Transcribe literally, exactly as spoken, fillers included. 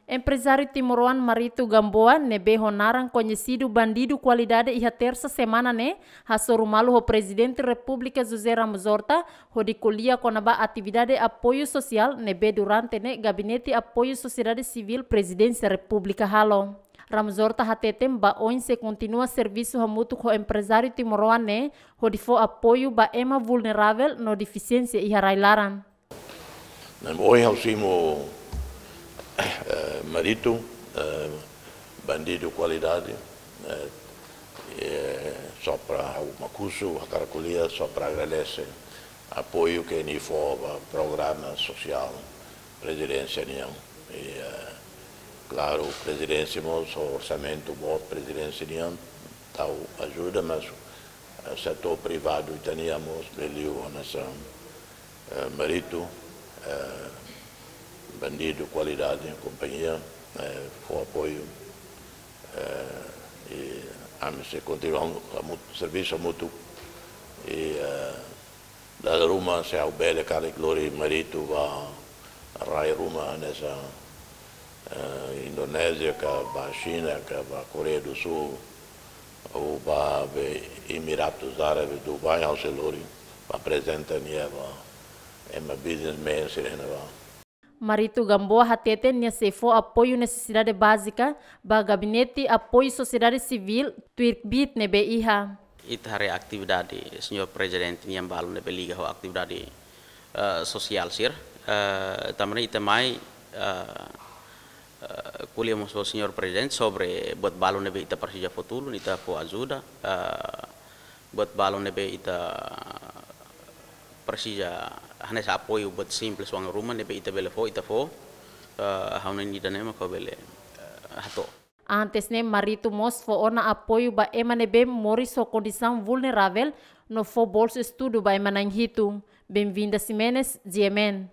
Emprezáriu timoroan Marito Gamboa, ne'ebé ho naran koñesidu Bandidu Kualidade, iha tersa semana ne'e hasoru malu ho Prezidente Repúblika José Ramos Horta, hodi ko'alia kona-ba atividade apoiu sosiál ne'ebé durante ne'e Gabinete Apoiu Sosiedade Sivíl Prezidénsia Repúblika halo. Ramos Horta hateten ba oin sei kontinua servisu hamutuk ho emprezáriu timoroan ne'e hodi fó apoiu ba ema vulneravel no defisiénsia iha rai-laran. Ne'e ohin ha'u simu, eh, Marito, eh, Bandidu Kualidade, eh, eh, só para ha'u Makusu, hakarak ko'alia, só para agradese apoiu ke nia fó ba programa sosiál Prezidénsia nian. I, eh, klaru, Prezidénsia mós ho orsamentu boot Prezidénsia nian tau ajuda, mas, eh, setór privadu ita-nian mós bele liu hanesan, eh, Marito, eh, Bandidu Kualidade kompañia, eh, fó apoiu, eh, i ami sei kontinua hamu-, hamu-, servisu hamutuk, i, eh, dala ruma se ha'u bele karik lori Marito ba rai ruma hanesan, eh, Indonézia ka, ba Xina ka, ba Koreia do Sul, ou ba be Emiratus Árabes, Dubai, ha'u sei lori ba aprezenta nia ba ema businessman sira-ne'e ba. Marito Gamboa hateten nia sei fó apoiu nesesidade bázika ba Gabinete Apoiu Sosiedade Sivíl tuir kbiit ne'ebé iha. Ita haree atividade Señór Prezidente nian balu ne'ebé liga ho atividade, eh, sosiál sira. Eh, tanba ne'e ita mai, eh, eh, ko'alia mós ho Señór Prezidente sobre buat balu ne'ebé ita presiza fó tulun, ita fó ajuda, eh, buat balu ne'ebé ita presiza hanesan apoiu buat simples oan ruma ne'ebé ita bele fó, ita fó, eh, ha'u-nia ida-ne'e mak ha'u bele, eh, hato'o. Antes ne'e Marito mós fó ona apoiu ba ema ne'ebé moris ho kondisaun vulneravel no fó bolsa estudu ba ema na'in hitu. Benvinda Ximenes, G M N.